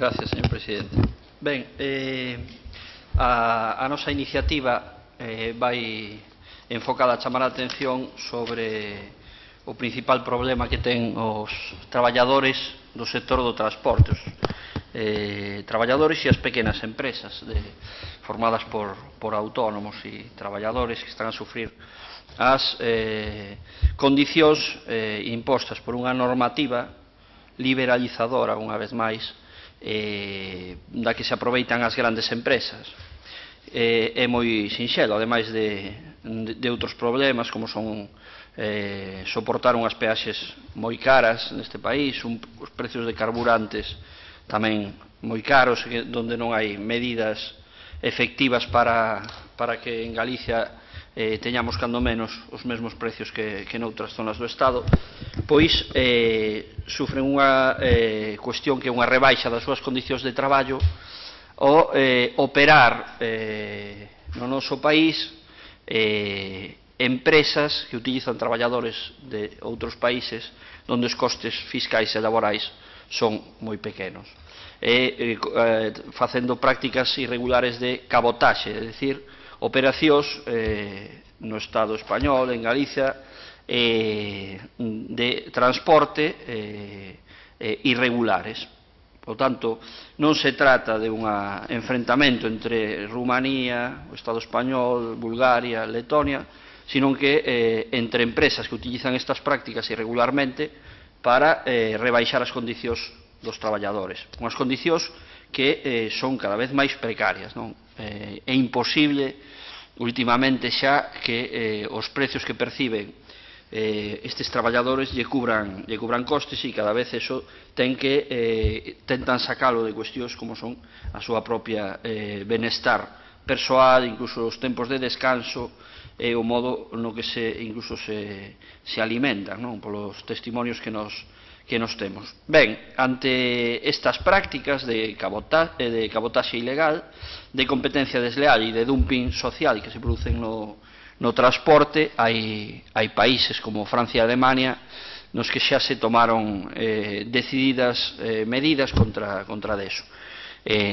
Gracias, señor presidente. Ben, a nosa iniciativa vai enfocada a chamar a atención sobre o principal problema que ten os traballadores do sector do transporte, traballadores e as pequenas empresas formadas por autónomos e traballadores que están a sufrir as condicións impostas por unha normativa liberalizadora, unha vez máis, da que se aproveitan as grandes empresas. É moi sinxelo, ademais de outros problemas, como son soportar unhas peaxes moi caras neste país, os precios de carburantes tamén moi caros, onde non hai medidas efectivas para que en Galicia teñamos cando menos os mesmos precios que noutras zonas do Estado, pois sufren unha cuestión que é unha rebaixa das súas condicións de traballo o operar no noso país empresas que utilizan traballadores de outros países onde os costes fiscais e laborais son moi pequenos, facendo prácticas irregulares de cabotaxe, é dicir, operacións no Estado español, en Galicia, de transporte irregulares. Por tanto, non se trata de un enfrentamento entre Rumanía, o Estado español, Bulgaria, Letonia, sino que entre empresas que utilizan estas prácticas irregularmente para rebaixar as condicións dos traballadores. Unhas condicións que son cada vez máis precarias, non? É imposible últimamente xa que os precios que perciben estes traballadores lle cubran costes, e cada vez eso tentan sacalo de cuestións como son a súa propia benestar persoal, incluso os tempos de descanso e o modo no que incluso se alimentan, non? Polos testimonios que nos temos. Ben, ante estas prácticas de cabotaxe ilegal, de competencia desleal e de dumping social que se producen no transporte, hai países como Francia e Alemania nos que xa se tomaron decididas medidas contra deso.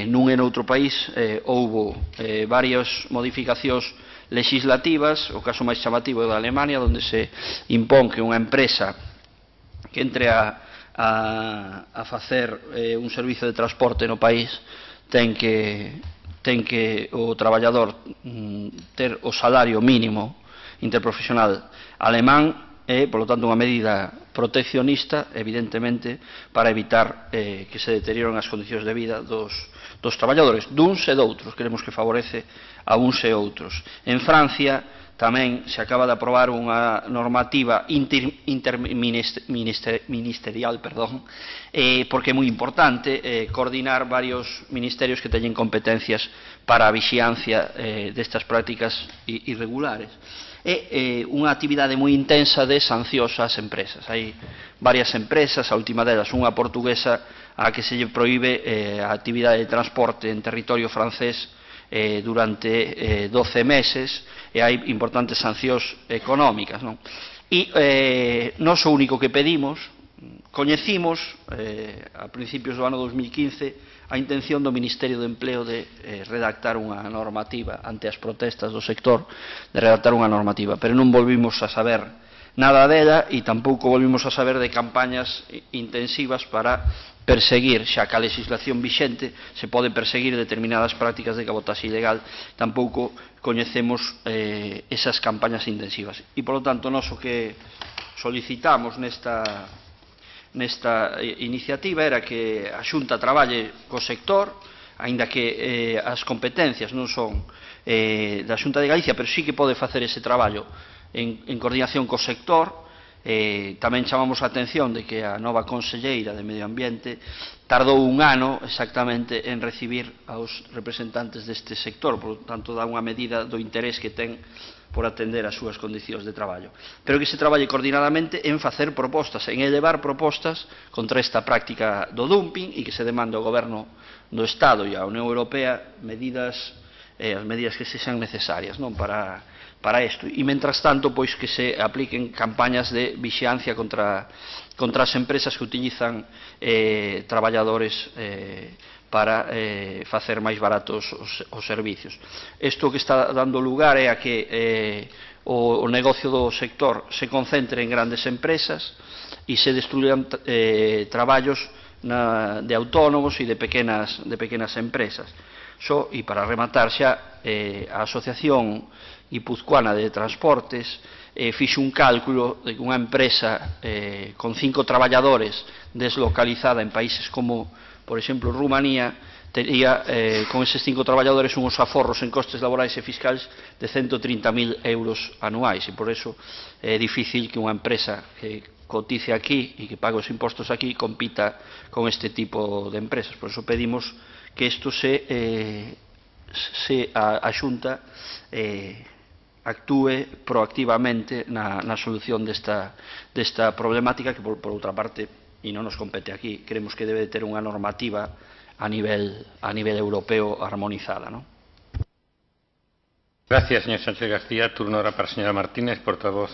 Nun e noutro país houbo varias modificacións legislativas. O caso máis chamativo é da Alemania, onde se impón que unha empresa que entre a facer un servizo de transporte no país ten que o traballador ter o salario mínimo interprofesional alemán, e, polo tanto, unha medida proteccionista, evidentemente, para evitar que se deterioren as condicións de vida dos traballadores, duns e doutros. Queremos que favorece a uns e outros. En Francia tamén se acaba de aprobar unha normativa interministerial, porque é moi importante coordinar varios ministerios que teñen competencias para a vixiancia destas prácticas irregulares. É unha actividade moi intensa de sancións ás empresas. Hai varias empresas, a última delas unha portuguesa a que se lle proíbe a actividade de transporte en territorio francés durante 12 meses, e hai importantes sancións económicas, non? E nós o único que pedimos, coñecimos a principios do ano 2015 a intención do Ministerio de Empleo de redactar unha normativa ante as protestas do sector, de redactar unha normativa, pero non volvimos a saber nada dela, e tampouco volvimos a saber de campañas intensivas para perseguir, xa que a legislación vixente se pode perseguir determinadas prácticas de cabotaxe ilegal. Tampouco coñecemos esas campañas intensivas, e, polo tanto, nós o que solicitamos nesta iniciativa era que a Xunta traballe co sector, aínda que as competencias non son da Xunta de Galicia, pero sí que pode facer ese traballo en coordinación co sector. Tamén chamamos a atención de que a nova conselleira de Medio Ambiente tardou un ano exactamente en recibir aos representantes deste sector, por tanto dá unha medida do interés que ten por atender as súas condicións de traballo, pero que se traballe coordinadamente en facer propostas, en elevar propostas contra esta práctica do dumping, e que se demande ao Goberno do Estado e á Unión Europea as medidas que sexan necesarias, non, para para isto. E, mentras tanto, pois que se apliquen campañas de vixiancia contra as empresas que utilizan traballadores para facer máis baratos os servicios. Isto que está dando lugar é a que o negocio do sector se concentre en grandes empresas e se destruyan traballos de autónomos e de pequenas empresas. E para rematar xa, a Asociación Guipuzcoana de Transportes fixe un cálculo de que unha empresa con 5 traballadores deslocalizada en países como, por exemplo, Rumanía, tería con eses 5 traballadores unhos aforros en costes laborais e fiscais de 130.000 euros anuais, e por eso é difícil que unha empresa que cotice aquí e que pague os impostos aquí compita con este tipo de empresas. Por eso pedimos que isto a Xunta actúe proactivamente na solución desta problemática que, por outra parte, e non nos compete aquí, creemos que debe ter unha normativa a nivel europeo armonizada, ¿no? Gracias, señor Sánchez García. Turno ahora para la señora Martínez, portavoz.